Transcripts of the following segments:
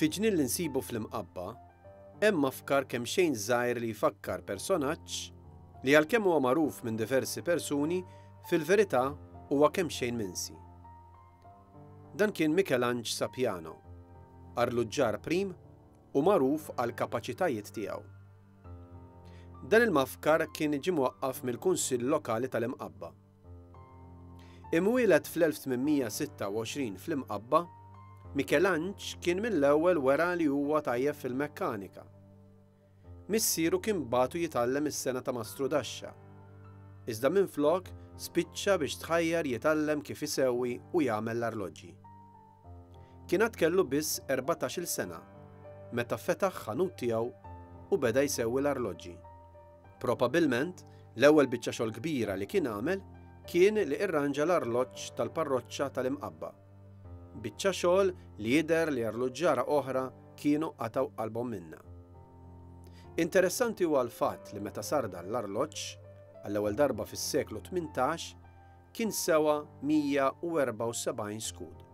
Fi ġnien li nsibu fl-Imqabba, hemm mafkar kemxejn żgħir li jfakkar personaġġ li għalkemm huwa magħruf minn diversi persuni, fil-verità huwa kemxejn minsi. Dan kien Mikelanġ Sapiano, arluġġar prim u magħruf għall-kapaċitajiet tiegħu. Dan il-mafkar kien ġie mwaqqaf mill-Kunsill Lokali tal-Imqabba. Imwieled fl-1826 fl-Imqabba, Mikelanġ kien mill-ewwel wera li huwa tajjeb fil-mekkanika. Missieru kien bagħtu jitgħallem is-sengħa ta' mastrudaxxa, iżda minflok spiċċa biex tħajjar jitgħallem kif isewwi u jagħmel l-arloġġi. Kien għad kellu biss 14-il sena meta fetaħ ħanut tiegħu u beda jsewwi l-arloġġi. Probabilment, l-ewwel biċċa xogħol kbira li kien għamel kien li irranġa l-arloġġ tal-parroċċa tal-Imqabba. Biċċa xogħol li jidher li arluġġara oħra kienu qatgħu qalbhom minnha. Interessanti huwa l-fatt li meta sar dan l-arloġġ, għall-ewwel darba fis-seklu 18, kien sewa 174 skud.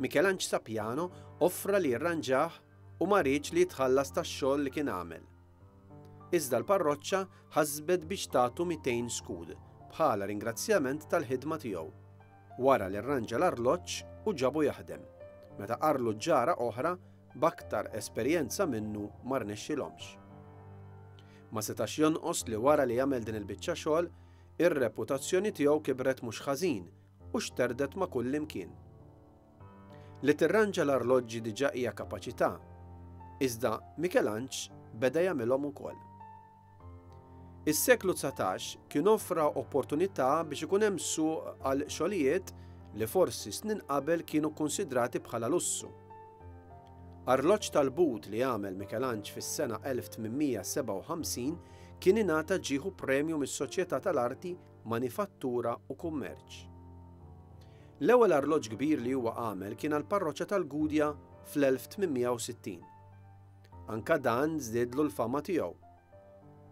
Mikelanġ Sapiano offra li jirranġah u ma riedx li jitħallas tax-xogħol li kien għamel. Iżda l-parroċċa ħasbet biex tagħtu 200 skud bħala ringrazzjament tal-ħidma tiegħu, wara li rranġa l-arloġġ u ġabu jaħdem, meta arluġġara oħra b'aktar esperjenza minnu ma rnexxilhomx. Ma setax jonqos li wara li għamel din il-biċċa xogħol, ir-reputazzjoni tiegħu kibret mhux ħażin u xterdet ma' kullimkien. Li tirranġa l-arloġġi diġà hija kapaċità, iżda Mikelanġ beda jagħmilhom ukoll. Is-seklu 19 kien offra opportunità biex ikun hemm suq għal xogħlijiet li forsi snin qabel kienu kkunsidrati bħala lussu. Arloġġ tal-but li għamel Mikelanġ fis-sena 1857 kien ingħata ġieħu premju mis-Soċjetà tal-Arti Manifattura u Kummerċ. L-ewwel arloġġ kbir li huwa għamel kien għall-parroċċa tal-Gudja fl-1860. Anka dan żdiedlu l-fama tiegħu.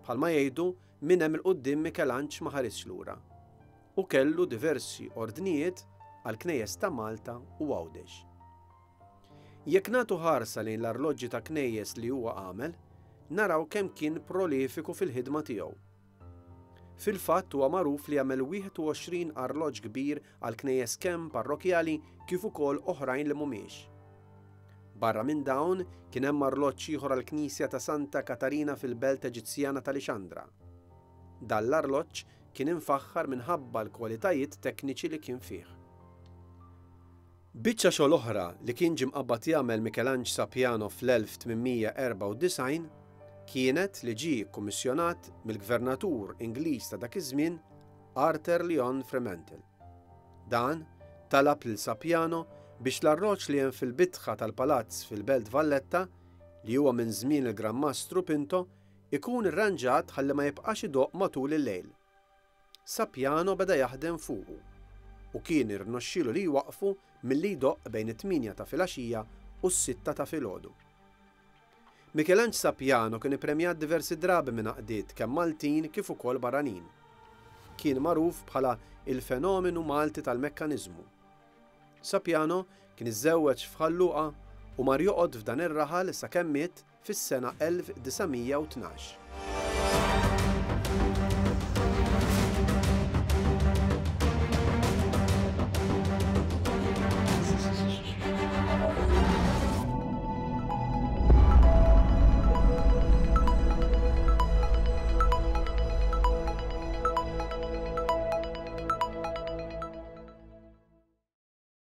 Bħalma jgħidu, minn hemm 'il quddiem Mikelanġ ma ħarisx lura u kellu diversi ordnijiet għall-knejjes ta' Malta u Għawdex. Jekk nagħtu ħarsa lejn l-arloġġi ta' knejjes li huwa għamel, naraw kemm kien prolifiku fil-ħidma tiegħu. Fil-fatt huwa magħruf li għamel 21 arloġġ kbir għal knejjes kemm parrokkjali kif ukoll oħrajn li mhumiex. Barra minn dawn kien hemm arloġġ ieħor għall-knisja ta' Santa Katarina fil-belt Eġizzjana ta' Lixandra. Dan l-arloġġ kien imfaħħar minħabba l-kwalitajiet tekniċi li kien fih. Biċċa xogħol oħra li kien ġie mqabbad jagħmel Mikelanġ Sapiano fl-1894 kienet li ġie kkummissjonat mill-Gvernatur Ingliż ta' dak iż-żmien Arthur Lyon Fremantle. Dan talab lil Sapiano biex l-arroġ li hemm fil-bitħa tal-palazz fil-Belt Valletta, li huwa minn żmien il-Gran Mastru Pinto, ikun irranġat ħalli ma jibqax idoqq matul il-lejl. Sapiano beda jaħdem fuqu u kien irnoxxielu li jwaqqfu milli jdoqq bejn it-tmienja ta' filgħaxija u s-sitta ta' filgħodu. Mikelanġ Sapiano kien ippremjat diversi drabi minn għaqdiet kemm Maltin kif ukoll barranin. Kien magħruf bħala il-fenomenu Malti tal-mekkaniżmu. Sapiano kien iżżewweġ f'Ħal Luqa u mar joqgħod f'dan ir-raħal sakemm miet fis-sena 1912.